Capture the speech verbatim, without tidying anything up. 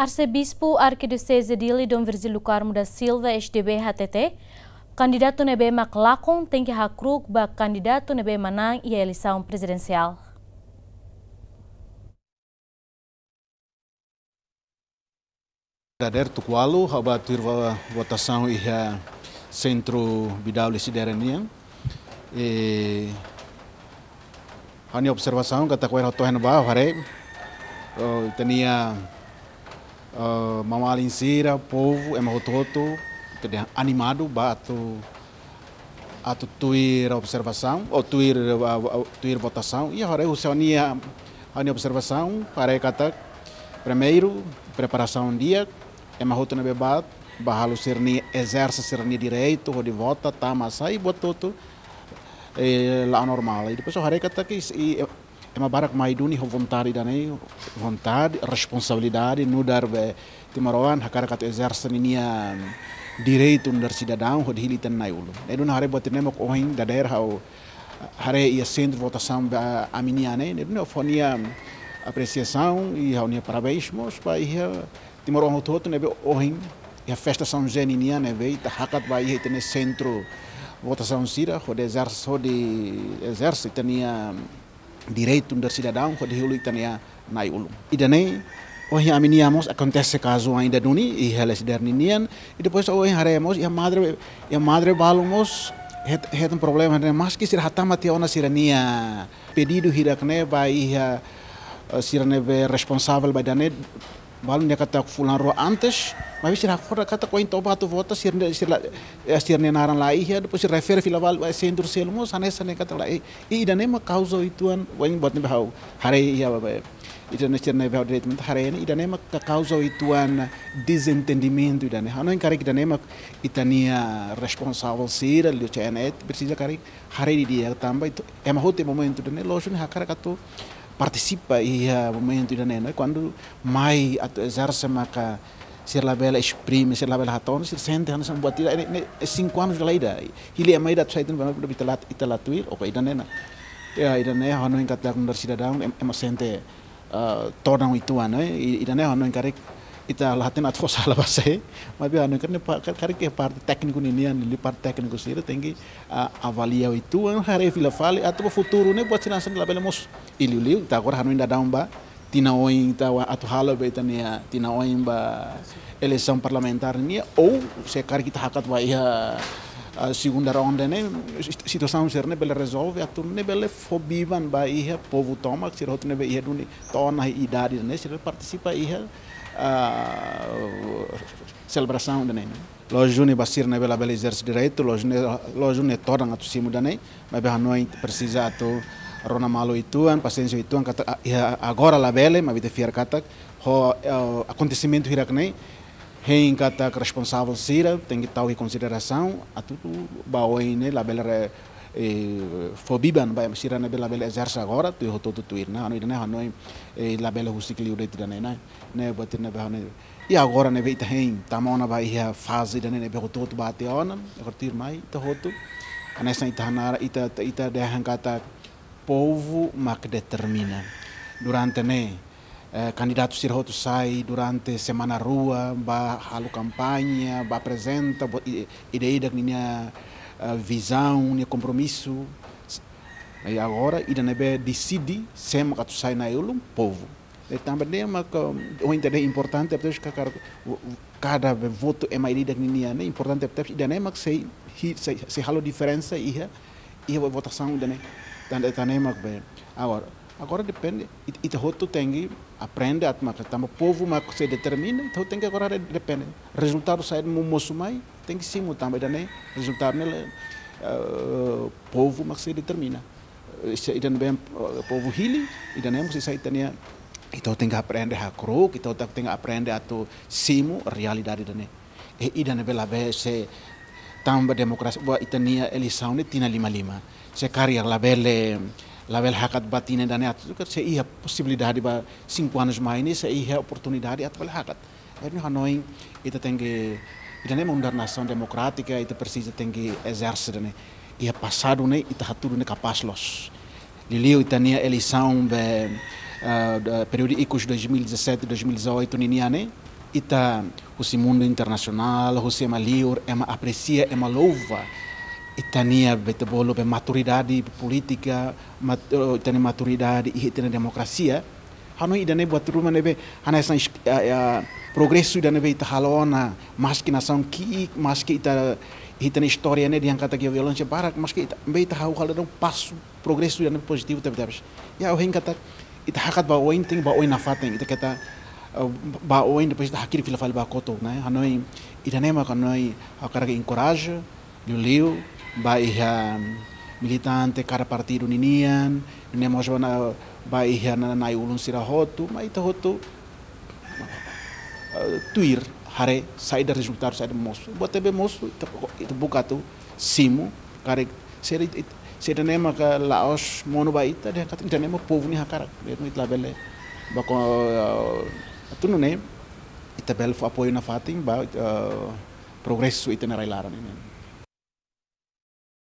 Arsebispu Arkidioseze Dili, Dom Virgílio do Carmo da Silva, S D B, hatete, kandidatu ne'ebé mak lakon tenke hakru'uk ba kandidatu ne'ebé manán iha eleisaun prezidensiál. Dadeer tuku ualu, ha'u bá tuir vo-, votasaun iha sentru Bidau Lecidere nian. E, ha'u-nia observasaun katak ohin ha'u to'o iha ne'ebá, haree, oh, ita-nia, oh, maun-alin sira, povu, ema hotu-hotu, ita dehan animadu, bá atu, atu tuir observasaun, ou tuir, ah, ah, tuir votasaun, i haree husi ha'u-nia, ha'u-nia observasaun, haree katak, primeiru, preparasaun di'ak, ema hotu ne'ebé bá, bá halo sira-nia, ezerse sira-nia direitu, hodi vota, tama, sai, buat hotu, eh, la'o normál. I depois ha'u haree katak, i, i, ema barak mai duni ho vontade ida-ne'e, vontade, responsabilidade, nu'udar be timoroan, hakarak atu ezerse ninia direitu nu'udar sidadaun, hodi hili ita-nia Nai Ulun. Ne'e duni haree buat ne'e mak ohin dadeer ha'u haree iha sentru votasaun ba ami-nian ne'e, ne'e duni ha'u fó ha'u-nia apresiasaun i ha'u-nia parabéns mós ba iha timoroan hotu-hotu ne'ebé ohin iha festa São José ninian ne'ebé ita hakat ba iha ita-nia sentru votasaun sira, hodi ezerse, hodi ezerse ita-nia direitu nu'udar sidadaun, hodi hili ita-nia Nai Ulun. Ida-ne'e, ohin ami-nian mós akontese kazu ida duni, iha Lecidere ninian, i depois ohin haree mós, iha Madre, iha Madre balu mós, het-, hetan problema, ne'e maski sira hatama tiha ona sira-nia pedidu hirak ne'e ba iha, eh, sira ne'ebé responsavel ba ida-ne'e, balu dehan katak fulan rua antes, maibé sira hakfodak katak ohin to'o bá atu vota, sira ne'e, sira la, eh, sira-nia naran la iha, depois sira refere fila fali ba sentru seluk mós, hanesan ne'e katak la, eh, i ida-ne'e mak kauza uitoan, ohin buat ne'ebé ha'u haree iha ba, ba, ida-ne'e sira ne'ebé ha'u diretamente haree ne'e, ida-ne'e mak ka kauza uitoan dezentendimentu ida-ne'e. Ha'u hanoin karik ida-ne'e mak ita-nia responsavel sira, liu C N E, presiza karik haree didi'ak tanba ita, ema hotu iha momentu ida-ne'e, lójiku ne'e hakarak atu partisipa iha momentu ida-ne'e, ne'e? Kuandu mai atu ezerse maka sira labele esprime, sira labele hato'o, sira sente hanesan buat ida-ne'e, ne'e, sinku anus dala ida. Hili ema ida atu sai tan ba ita la, ita la tuir, oke, ida-ne'e ona. Ya, ida-ne'e hanoin katak nu'udar sidadaun, em-, ema sente, eh, todan uitoan, ne'e? I, ida-ne'e hanoin karik ita la hatene atu fó sala ba sé, maibé hanoin karik ne'e pa-, karik, karik iha parte tékniku ninian, liu parte tékniku sira tenke, ah, avalia uitoan, haree fila fali, atu ba futuru ne'e buat sira hanesan labele mosu. I liuliu, ita agora hanoin daudaun ba tinan oin ita atu halo ba ita-nia tinan oin ba eleisaun parlamentár nian, ou se karik ita hakat ba iha, ah, segunda ronda ne'e, sit-, situasaun sira-ne'e bele rezolve, atu nune'e bele fó biban ba iha povu tomak, sira hotu ne'ebé iha duni to'o ona idade ne'e, sira partisipa iha, ah, selebrasaun ida-ne'e, ne'e? Lójiku duni ba sira ne'ebé labele ezerse direitu, lójiku duni, lójiku duni todan atu simu ida-ne'e, maibé hanoin presiza atu rona malu uitoan, pasiénsia uitoan, katak, ah, iha agora labele, maibé ita fiar katak, ho, eh, akontesimentu hirak ne'e, hein katak responsavel sira tenke tau iha konsiderasaun, atu ba oin ne'e labele re-, eh, fó biban ba sira ne'ebé labele ezerse agora, tuir hotu-hotu tuir ona, hanoin ida-ne'e hanoin, eh, labele husik liu de'it ida-ne'e, ne'e? Ne'e buat ne'ebé hanoin. I agora ne'ebé ita hein, tama ona ba iha faze ida-ne'e ne'ebé hotu-hotu bá tiha ona, agora tuirmai, ita hotu. Hanesan ita hanaran, ita, ita, ita dehan katak povu mak determina. Durante ne'e, eh, kandidatu sira hotu sai durante semana rua, bá halo kampaña, bá aprezenta, bo-, i-, ida-idak ninia, eh, vizaun, nia kompromisu. S-, i agora, ida ne'ebé deside, sé mak atu sai Nai Ulun, povu. E tanba ne'e maka, ohin ita dehan importante, tebes ka-, kar-, kada be votu ema ida-idak ninian ne'e, importante, tebes ida-ne'e mak sei, hi-, sei, sei halo diferensa iha, iha votasaun ida-ne'e. Tan-, tan ne'e mak be. Agora, agora depende, it-, ita hotu tenke aprende atu maka, tanba povu mak sei determina, ita hotu tenke agora re-, depende. Rezultadu saida mak mosu mai, tenke simu tanba ida-ne'e, rezultadu ne'e, eh, povu mak sei determina. Eh, se ida-ne'ebé, eh, povu hili, ida-ne'e mós sai ita-nia, ita tenke aprende hakru'uk, ita tenke aprende atu simu realidade ida-ne'e. E ida-ne'ebé labele se tanba demokrasia, ba ita-nia eleisaun ne'e tinan lima-lima. Se karik labele, labele hakat ba tinan ida-ne'e atu, se iha posibilidade ba sinku anus mai ne'e, se iha oportunidade atu bele hakat. Entaun hanoin, ita tenke, ita ne'e mak nu'udar nasaun demokrátika, ita presiza tenke ezerse ida-ne'e. Iha pasadu ne'e, ita hatudu ne'e kapás loos. Liuliu ita-nia eleisaun be, eh, da, períodu ikus dois mil e dezassete, dois mil e dezoito ninian ne'e, Ita husi mundu internasionál, husi ema liur, ema apresia, ema louva ita-nia, be ita bolu, be maturidade polítika, mat-, eh, ita-nia maturidade iha ita-nia demokrasia. Hanoin ida-ne'e buat ruma ne'ebé hanesan is-, eh, eh, progresu ida ne'ebé ita halo ona, maski nasaun ki'ik, maski ita, ita-nia istória ne'e dehan katak iha violénsia barak, maski ita, be ita hahú halo daudaun pasu progresu ida ne'ebé pozitivu tebetebes. Ya, ha'u hein katak ita hakat ba oin, tenke ba oin nafatin, ita keta, eh, ba oin, depois ita hakilar fila fali ba kotuk, ne'e? Hanoin ida-ne'e mak hanoin ha'u hakarak enkoraja, liuliu ba iha militante kada partidu ninian, ne'e mós ba na, ba iha na, na'i-ulun sira hotu, mai ita hotu, eh, tuir, haree saida rezultadu, saida mosu. Buat ne'ebé mosu, ita, ita buka atu simu, karik se ida, se ida-ne'e maka la'ós monu ba ita, dehan katak ida-ne'e mak povu nia hakarak. Dehan ita labele ba ko, eh, atu nune'e, ita bele fó apoiu nafatin ba, eh, progresu ita-nia rai-laran nian.